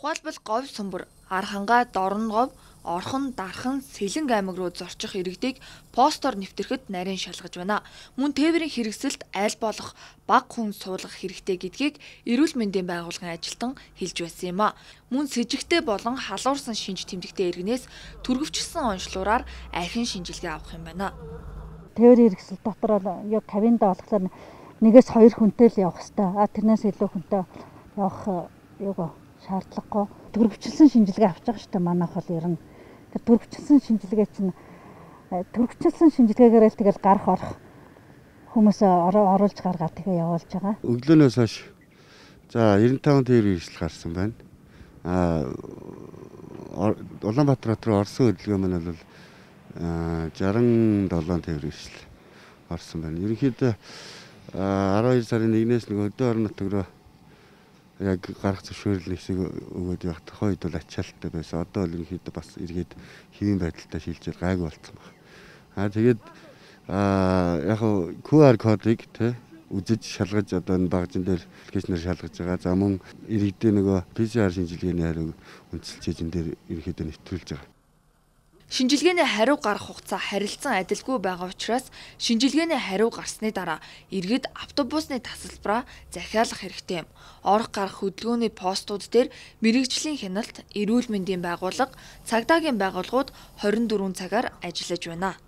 Тухайлбал говь сумбар, Архангаа, Дорноговь, Орхон, Дархан, Сэлэнг аймаг руу зорчих иргэдийг постоор нэвтрэхэд нарийн шалгаж байна. Мөн тээврийн хэрэгсэлд аль болох бага хүн суулгах хэрэгтэй гэдгийг эрүүл мэндийн байгууллагын ажилтан хэлж байсан юм а. Мөн с ิจ гтэй болон халуурсан шинж тэмдэгтэй иргэнээс түргэвчилсэн онцлогоор архин шинжилгээ авах юм байна. Тээврийн хэрэгсэл дотор бол яг кабинда болохоор 1-2 хүнтэй л явах хэрэгтэй. Тэрнээс илүү хүнтэй явах шаардлагагүй. Түргэвчилсэн шинжилгээ авч байгаа шүү дээ. Манайх бол ер нь түргэвчилсэн шинжилгээгээр л тэгэл гарах орох хүмүүсээ оруулж гаргаад тэгээ явуулж байгаа. Өглөөнөөс хойш за 95 тээврийн хэрэгсэл гарсан байна. Улаанбаатар руу орсон хөдөлгөөн маань бол 67 тээврийн хэрэгсэл орсон байна. Ерөнхийдөө 12 сарын 1-ээс өдөө орон нутаг руу яг гарах зөвшөөрөл нэгсэг өгөөд явах тухайд бол ачаалттай байсан. Одоо бол ерөнхийдөө бас эргээд хэвийн байдалтай шилжиж гайгүй болсон байна. Тэгээд яг QR кодыг үзэж шалгаж одоо энэ багжин дээр аппликейшнээр шалгаж байгаа. За мөн иргэдээ PCR шинжилгээний хариуг үндэслэж энэ дээр ерөнхийдөө нэвтрүүлж байгаа. Шинжилгээний хариу гарах хугацаа харилцан адилгүй байгаа учраас шинжилгээний хариу гарсны дараа иргэд автобусны тасалбараа захиалах хэрэгтэй юм. Орох гарах хөдөлгөөний постууд дээр мэрэгжлийн хяналт, эрүүл мэндийн байгууллага, цагдаагийн байгууллагууд 24 цагаар ажиллаж байна.